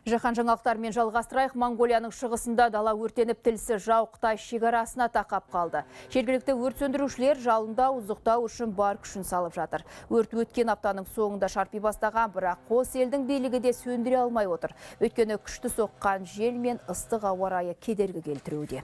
Жаһан жаңалықтарымен жалғастырайық. Монғолияның шығысында дала өртеніп, тілсіз жау Қытай шекарасына тақап қалды. Жергілікті өрт сөндірушілер жалында ұзықтау үшін бар күшін салып жатыр. Өрт өткен аптаның соңында шарпи бастаған, бірақ қос елдің билігі де сөндіре алмай отыр. Өйткені күшті соққан жел мен ыстық ауа райы кедергі келтіруде.